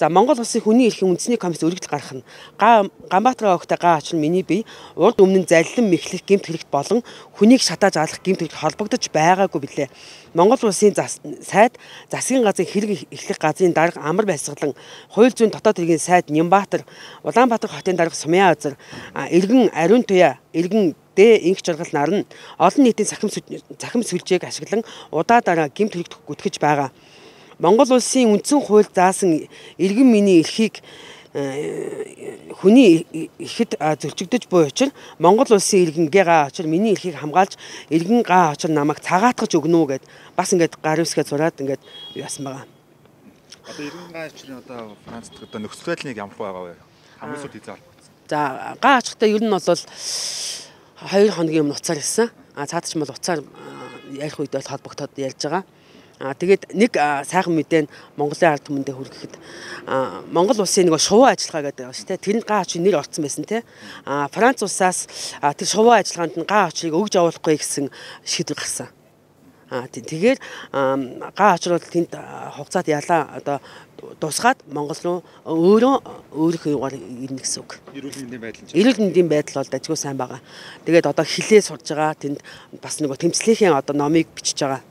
За Монгол улсын хүний эрхийн үндэсний комисс өргөдөл гаргах нь Ганбаатар огтой гаа ач нь миний бие урд өмнө нь залилан мэхлэх гэмт хэрэгт болон хүнийг шатааж алах гэмт хэрэгт холбогдож байгаагүй билээ. Монгол улсын сайд засгийн газрын хэрэг эхлэх газрын дарга амар байсгалан хууль зүйн дотоод хэргийн сайд Нямбаатар Улаанбаатар хотын дарга Сумьяа Азар иргэн Ариун Туяа иргэн инх жаргал нарна олон нийтийн цахим сүлжээг ашиглан удаа гэмт хэрэгт гүтгэж байгаа. Монгол улсын үндсэн хууль заасан иргэн миний эрхийг хүний ихэд зөрчигдөж буй учраас Монгол улсын иргэнгээ гаа очир миний эрхийг хамгаалж иргэн гаа очир намайг цагаатгаж өгнө үү гэд бас ингээд гар үсгээ зураад ингээд яасан байгаа. Одоо иргэн гаа очирын одоо Францд одоо нөхцөл байдлыг ямар байгаа вэ? Хамгийн сүүлд хязгаар болсон. За гаа очихдаа ер нь бол 2 хоногийн өмнө уцаар ирсэн. Цаадч бол уцаар ярих үедээ холбогдоод ярьж байгаа. Тэгээд нэг сайхан мэдээ нь Монголын ард түмэндээ хүргэхэд Монгол улсын нэг шувуу ажиллагаа гэдэг байгаа шүү дээ. Тэрэнд гаа очрын нэр орсон байсан те. Франц улсаас тэр шувуу ажиллагаанд нь гаа очрыг өгж явуулахгүй гэсэн шийдвэр гарсан. Тэгэхээр гаа очрол тэнд хугацаанд ялаа одоо тусгаад Монгол руу өөрийнхөө югаар ирнэ гэсэн үг. Эрүүл мэндийн байдал бол дажгүй сайн байгаа. Тэгээд одоо хилээ сурж байгаа тэнд бас нэг тэмцлийнхээ одоо номыг бичиж байгаа.